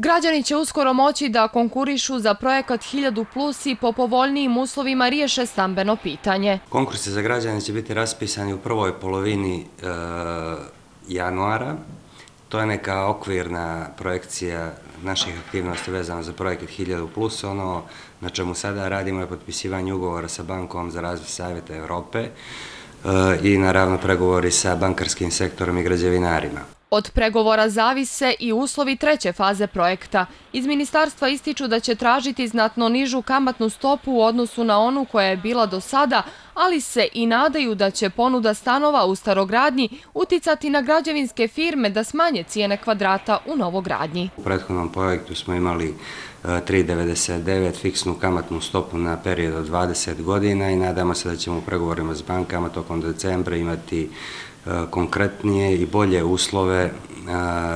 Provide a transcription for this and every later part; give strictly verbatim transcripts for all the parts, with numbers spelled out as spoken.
Građani će uskoro moći da konkurišu za projekat hiljadu plus i po povoljnijim uslovima riješe stambeno pitanje. Konkursi za građane će biti raspisani u prvoj polovini e, januara. To je neka okvirna projekcija naših aktivnosti vezano za projekat hiljadu plus. Ono na čemu sada radimo je potpisivanje ugovora sa Bankom za razvoj Savjeta Europe e, i naravno pregovori sa bankarskim sektorom i građevinarima. Od pregovora zavise i uslovi treće faze projekta. Iz ministarstva ističu da će tražiti znatno nižu kamatnu stopu u odnosu na onu koja je bila do sada, ali se i nadaju da će ponuda stanova u starogradnji uticati na građevinske firme da smanje cijene kvadrata u novogradnji. U prethodnom projektu smo imali tri zarez devedeset devet fiksnu kamatnu stopu na period od dvadeset godina i nadamo se da ćemo u pregovorima s bankama tokom decembra imati konkretnije i bolje uslove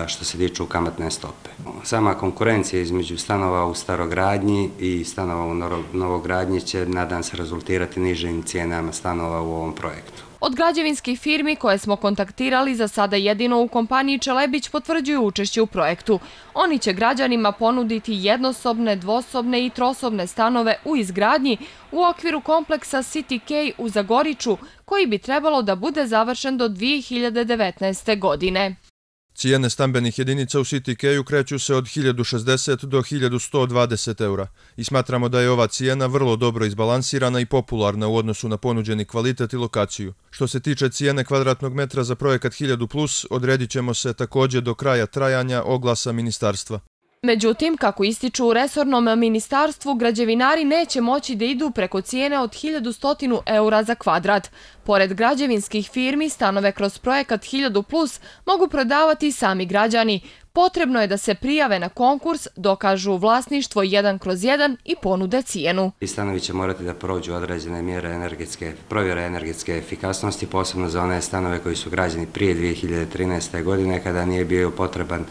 što se tiču kamatne stope. Sama konkurencija između stanova u starogradnji i stanova u novogradnji će, nadam se, rezultirati nižim cijenama stanova u ovom projektu. Od građevinskih firmi koje smo kontaktirali, za sada jedino u kompaniji Čelebić potvrđuju učešće u projektu. Oni će građanima ponuditi jednosobne, dvosobne i trosobne stanove u izgradnji u okviru kompleksa City Key u Zagoriču, koji bi trebalo da bude završen do dvije hiljade devetnaeste. godine. Cijene stambenih jedinica u City Keyu kreću se od hiljadu šezdeset do hiljadu sto dvadeset eura i smatramo da je ova cijena vrlo dobro izbalansirana i popularna u odnosu na ponuđeni kvalitet i lokaciju. Što se tiče cijene kvadratnog metra za projekat hiljadu plus, odredit ćemo se također do kraja trajanja oglasa ministarstva. Međutim, kako ističu u resornom ministarstvu, građevinari neće moći da idu preko cijene od hiljadu sto eura za kvadrat. Pored građevinskih firmi, stanove kroz projekat hiljadu plus mogu prodavati sami građani. Potrebno je da se prijave na konkurs, dokažu vlasništvo jedan kroz jedan i ponude cijenu. Stanovi će morati da prođu određene mjere energetske, provjere energetske efikasnosti, posebno za one stanove koji su građeni prije dvije hiljade trinaeste. godine, kada nije bio potreban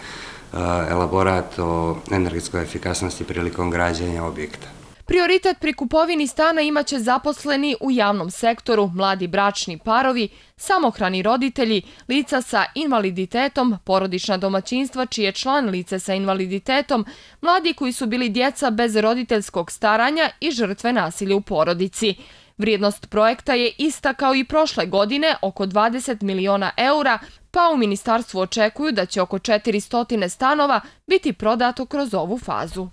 elaborat o energetskoj efikasnosti prilikom građenja objekta. Prioritet pri kupovini stana imaće zaposleni u javnom sektoru, mladi bračni parovi, samohrani roditelji, lica sa invaliditetom, porodična domaćinstva čiji je član lice sa invaliditetom, mladi koji su bili djeca bez roditeljskog staranja i žrtve nasilja u porodici. Vrijednost projekta je ista kao i prošle godine, oko dvadeset miliona eura, pa u ministarstvu očekuju da će oko četiristo stanova biti prodato kroz ovu fazu.